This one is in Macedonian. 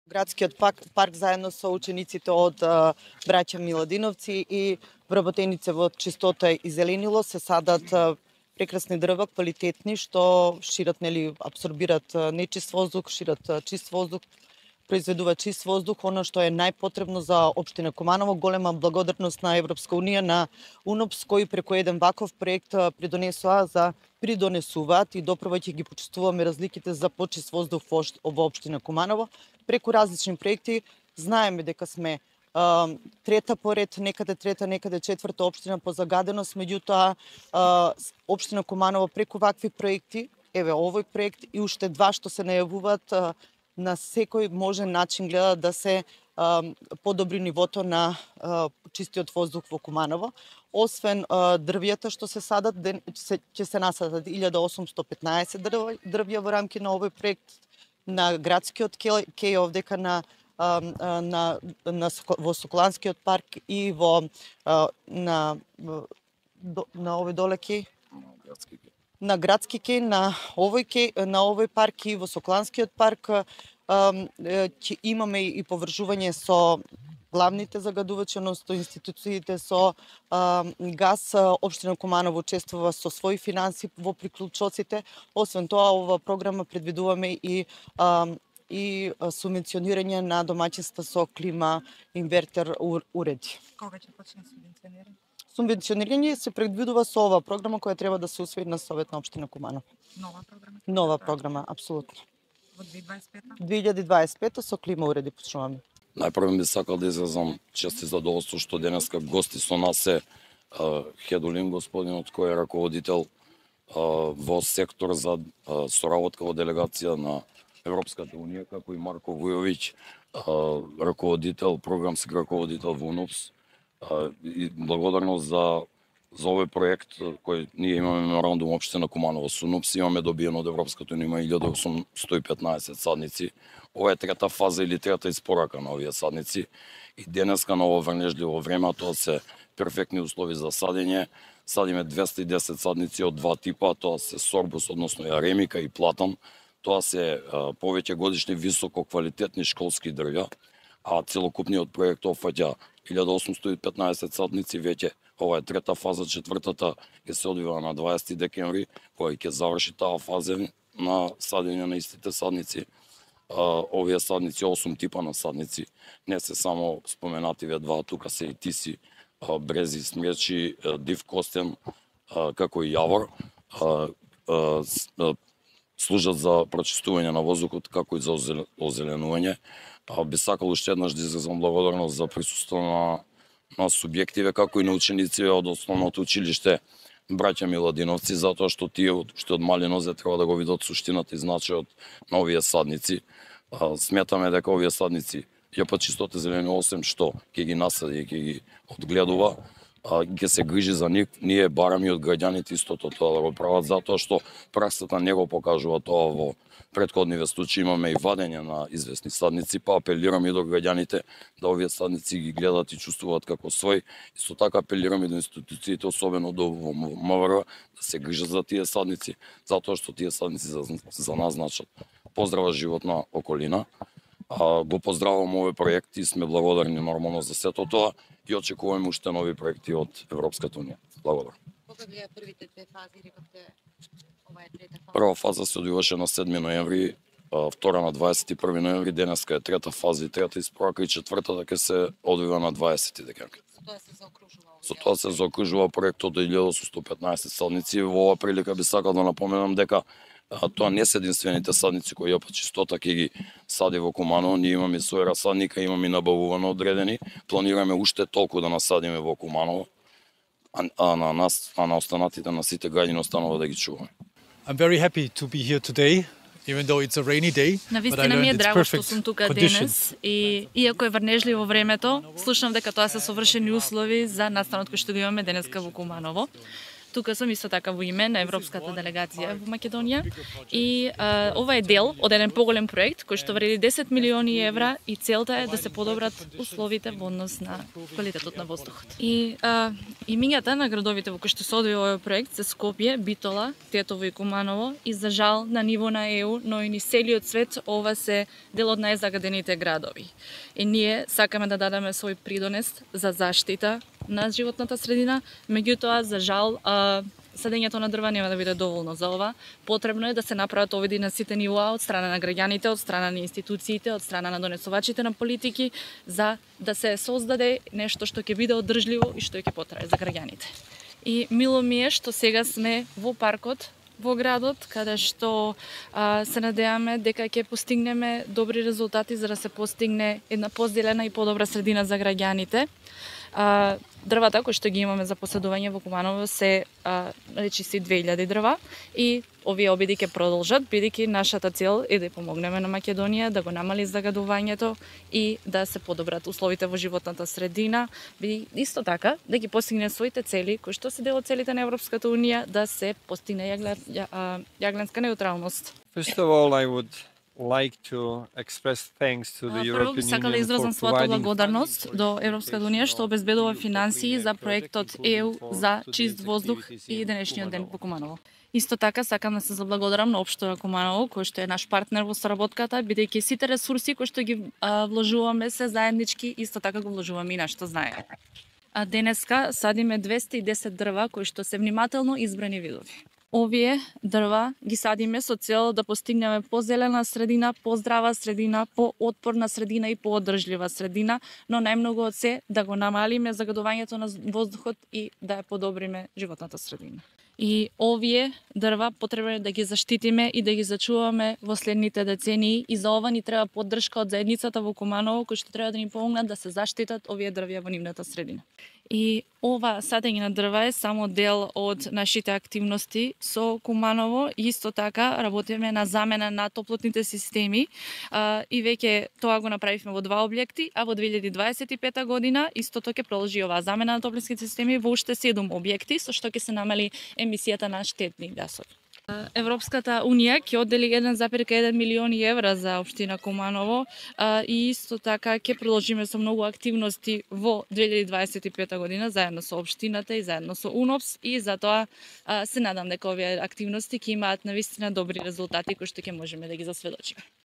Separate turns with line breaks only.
Градскиот парк заедно со учениците од браќа Миладиновци и вработеници во чистота и зеленило се садат прекрасни дрва, квалитетни, што шират, абсорбират нечист воздух, шират чист воздух, произведува чист воздух, она што е најпотребно за општина Куманово. Голема благодарност на Европска унија, на УНОПС, кои преку еден ваков проект придонесуваат и допрва ќе ги почувствуваме разликите за почист воздух во општина Куманово. Преку различни проекти знаеме дека сме трета поред, некаде трета, некаде четврта општина по загаденост, меѓутоа општина Куманово преку вакви проекти, еве овој проект и уште два што се најавуваат, на секој можен начин гледа да се подобри нивото на чистиот воздух во Куманово. Освен дрвјата што се садат, ќе се насадат 1815 дрвја во рамки на овој проект на градскиот кеј овдека во Соколанскиот парк и на овој доле кеј на градски кеј, на овој парк и во Соколанскиот парк ќе имаме и поврзување со главните загадувачи, односно институциите со газ. Општина Куманово учествува со своји финанси во приклучоците. Освен тоа, ова програма предвидуваме и субвенционирање на домаќинства со клима инвертер уреди.
Кога ќе почне субвенционирање?
Субвенционирање се предвидува со ова програма која треба да се усвои на Совет на општина Куманово.
Нова програма?
Нова програма, апсолутно.
Во 2025?
2025 со клима уреди почнуваме.
Најпрво би сакал да изразам чест и задоволство што денеска гости со нас е Хедулин, господинот кој е раководител во сектор за соработка во делегација на Европската унија, како и Марко Вујовиќ, раководител, програмски раководител во УНОПС. И благодарност за овој проект кој ние имаме меморандум општина Куманово со УНОПС, имаме добиено од Европската унија 1815 садници. Ова е трета фаза или трета испорака на овие садници и денеска на ово врнежливо време, тоа се перфектни услови за садење. Садиме 210 садници од два типа, тоа се сорбус, односно аремика и платан. Тоа се повеќе годишни високо квалитетни школски дрвја, а целокупниот проект опфаќа 1815 садници веќе. Ова е трета фаза, четвртата ќе се одвива на 20 декември, која ќе заврши таа фаза на садење на истите садници. Овие садници, 8 типа на садници, не се само споменативе два, тука се и тиси, брези, смречи, див костен, како и јавор, служат за прочистување на воздухот, како и за озеленување. Би сакал уште еднаш да изразам благодарност за присуство на субјективе, како и на ученици од основното училиште браќа Миладиновци, затоа што тие уште од мали нозе треба да го видат суштината и значајот на овие садници. Сметаме дека овие садници ЈП Чистота зелени 8 што ќе ги насади и ќе ги одгледува, ќе се грижи за нив, ние бараме од граѓаните истото тоа да го прават, затоа што праксата не го покажува тоа во претходниве случаи. Имаме и вадење на известни садници, па апелираме и до граѓаните да овие садници ги гледат и чувствуваат како свој. Исто така апелираме до институциите, особено до МВР, да се грижат за тие садници, затоа што тие садници за нас значат поздрава животна околина. Го поздравувам овој проект и сме благодарни нормално за сето тоа и очекуваме уште нови проекти од Европската унија. Благодарам.
Кога беа првите две фази, рековте ова е трета фаза?
Прва фаза се одвиваше на 7 ноември, втора на 21 ноември, денеска е трета фаза и трета испорака и четвртата ќе се одвива на 20 декември.
Тоа се заокружува.
Со тоа се заокружува проектот од 1815 садници. Во оваа прилика би сакал да напоменам дека тоа не се единствените садници кои ЈП Чистота ќе ги сади во Куманово. Ние имаме свој расадника, имаме набавувано одредени. Планираме уште толку да насадиме во Куманово, а на останатите на сите граѓани останува да ги чуваме.
I'm very happy to be here today, even though it's a rainy day.
Навистина ми е драго што сум тука денес и иако е врнежливо времето, слушам дека тоа се совршени услови за настанот кој што го имаме денеска во Куманово. тука сум исто така во име на Европската делегација во Македонија и ова е дел од еден поголем проект кој што вреди 10 милиони евра и целта е да се подобрат условите во однос на квалитетот на воздухот. И имињата на градовите во кои што се одвива овој проект се Скопје, Битола, Тетово и Куманово и за жал на ниво на ЕУ, но и низ целиот свет ова се дел од најзагадените градови. И ние сакаме да дадеме свој придонес за заштита на животната средина, меѓутоа за жал садењето на дрва нема да биде доволно за ова. Потребно е да се направат оводи на сите нивоа од страна на граѓаните, од страна на институциите, од страна на донесувачите на политики за да се создаде нешто што ќе биде одржливо и што ќе потрае за граѓаните. И мило ми е што сега сме во паркот во градот, каде што се надеваме дека ќе постигнеме добри резултати за да се постигне една позелена и подобра средина за граѓаните. Дрвата кои што ги имаме за поседување во Куманово се речиси 2000 дрва и овие обиди ќе продолжат, бидејќи нашата цел е да помогнеме на Македонија да го намали загадувањето и да се подобрат условите во животната средина, исто така да ги постигне своите цели кои што се дел од целите на Европската унија да се постигне јагленска неутралност.
First of all, I would like to express thanks to the
Прво
European
сакам да
Union
изразам
for
својата
providing
благодарност до Европската унија што обезбедува финансии за проектот ЕУ за чист воздух и денешниот ден во Куманово. Исто така сакам да се заблагодарам на општина Куманово кој што е наш партнер во соработката, бидејќи сите ресурси кои што ги вложуваме се заеднички, исто така го вложуваме и нашето знаење. Денеска садиме 210 дрва кои што се внимателно избрани видови. Овие дрва ги садиме со цел да постигнеме позелена средина, поздрава средина, поотпорна средина и поодржлива средина, но најмногу од се да го намалиме загадувањето на воздухот и да ја подобриме животната средина. И овие дрва потребно е да ги заштитиме и да ги зачуваме во следните децении и за ова ни треба поддршка од заедницата во Куманово кои што треба да ни помогнат да се заштитат овие дрвја во нивната средина. И ова садење на дрва е само дел од нашите активности со Куманово и исто така работиме на замена на топлотните системи и веќе тоа го направивме во 2 објекти, а во 2025 година истото ќе продолжи оваа замена на топлотните системи во уште 7 објекти со што ќе се намали емисијата на штетни гасови. Европската унија ќе оддели 1,1 милиони евра за општина Куманово и исто така ќе продолжиме со многу активности во 2025 година заедно со општината и заедно со УНОПС и затоа се надам дека овие активности ќе имаат навистина добри резултати кои што ќе можеме да ги засведочиме.